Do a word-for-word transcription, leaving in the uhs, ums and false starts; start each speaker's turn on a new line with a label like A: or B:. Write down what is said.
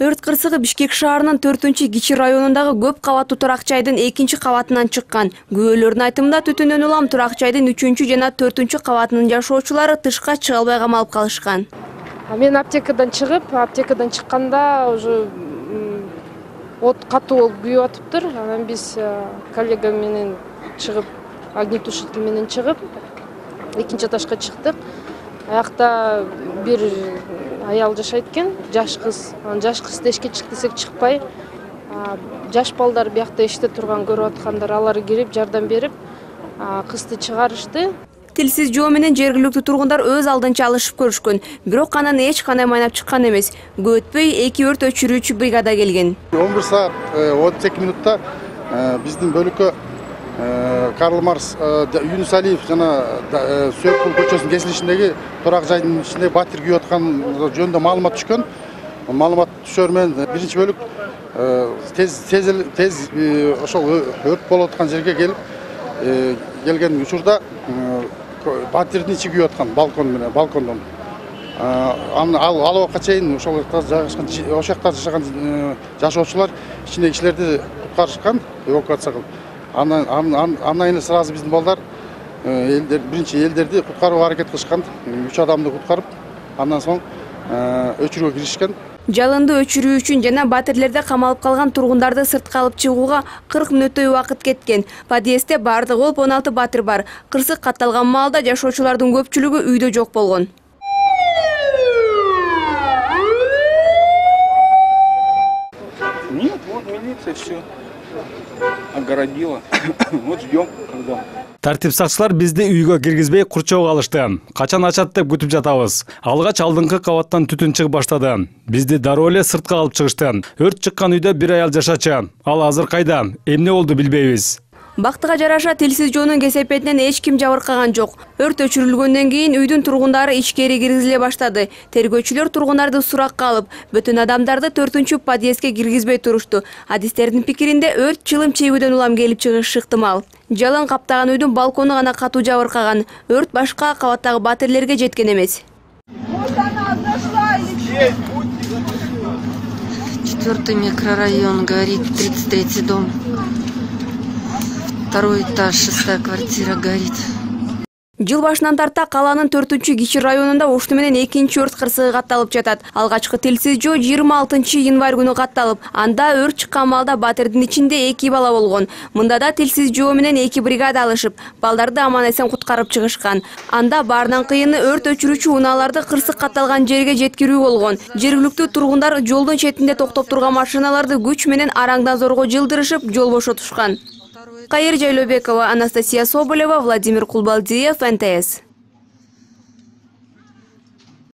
A: Өрт кырсыгы Бишкек шаарынын төртүнчү кичи районундагы көп кабаттуу турак жайдын экинчи кабатынан чыккан. Күбөлөрдүн айтымында түтүндөн улам турак жайдын үчүнчү жана төртүнчү кабатынын жашоочулары тышка чыга албай камалып калышкан.
B: Мен аптекадан чыгып, аптекадан чыкканда уже от катуу болуп күйүп атыптыр. Анан биз коллега менен чыгып, огнетушитель менен чыгып, экинчи этажга чыктык. Аякта бир аял жашайт экен, жаш кыз. Жаш кыз эшикке чык десек чыкпай, жаш балдар биякта эшикте турган көрүп аткандар, алар кирип жардам берип, кызды чыгарышты.
A: Тилсиз жоо менен жергиликтүү тургундар өз алдынча алышып көрүшкөн, бирок анан эч кандай майнап чыккан эмес. Көп өтпөй эки өрт өчүрүүчү бригада келген.
C: он бир саат отуз эки минутта биздин бөлүккө Карл Марс, Юнус Алиев жана Сөкпул көчөсүнүн кесилишиндеги турак жайдын ичинде батир күйүп аткан жөнүндө маалымат түшкөн. Маалымат түшөр менен биринчи бөлүк тез тез тез ошол өрт болуп аткан жерге келип келген учурда батирдин ичи күйүп аткан балкон менен балкондон. Ал ал убакка чейин ошол жакта жайгашкан ошол жакта жашаган жашоочулар ичиндеги кишилерди куткарышкан, эвакуация кылып. Андан андан эле сразу биздин балдар элдер биринчи элдерди куткарууга аракет кылышкан. үч адамды куткарып, андан соң өчүрүүгө киришкен.
A: Жалынды өчүрүү үчүн жана батирлерде камалып калган тургундарды сыртка алып чыгууга кырк мүнөттөй убакыт кеткен. Подъездде бардыгы болуп он алты батир бар. Кырсык катталган маалда жашоочулардын көпчүлүгү үйдө жок болгон.
D: Нет, вот милиция все огородила. Вот ждем, когда.
E: Тартип сакчылар бизди үйгө киргизбей курчоого алышты. Качан ачат деп күтүп жатабыз. Алгач алдыңкы кабаттан түтүн чыгып баштады. Бизди дароо эле сыртка алып чыгышты. Өрт чыккан үйдө бир аял жашачу. Ал азыр кайда? Эмне болду билбейбиз.
A: Бактыга жараша тилсиз жоонун кесепетинен эч ким жабыркаган жок. Өрт өчүрүлгөндөн кийин үйдүн тургундары ичкери киргизиле баштады. Тергөөчүлөр тургундарды суракка алып, бүтүн адамдарды төртүнчү подъездге киргизбей турушту. Адистердин пикиринде өрт чылым чебүүдөн улам келип чыгышы ыктымал. Жалын каптаган үйдүн балкону гана катуу жабыркаган. Өрт башка кабаттагы батирлерге жеткен эмес.
F: Четвертый микрорайон горит, тридцать третий дом. Второй этаж, шестая квартира горит.
A: Жыл башынан тарта калаанын төртүнчү кичи районунда ушуну менен экинчи өрт кырсыгы катталып жатат. Алгачкы тилсиз жоо жыйырма алтынчы январь күнү катталып, анда өрт чыккан маалда батирдин ичинде эки бала болгон. Мында да тилсиз жоо менен эки бригада алышып, балдарды аман эсен куткарып чыгышкан. Анда баарынан кыйыны өрт өчүрүүчү унааларды кырсык катталган жерге жеткирүү болгон. Жергиликтүү тургундар жолдун четинде токтоп турган машиналарды күч менен араңдан зорго жылдырышып, жол бошотушкан. Кайыр Жайлообекова, Анастасия Соболева, Владимир Кулбалдиев, эн тэ эс.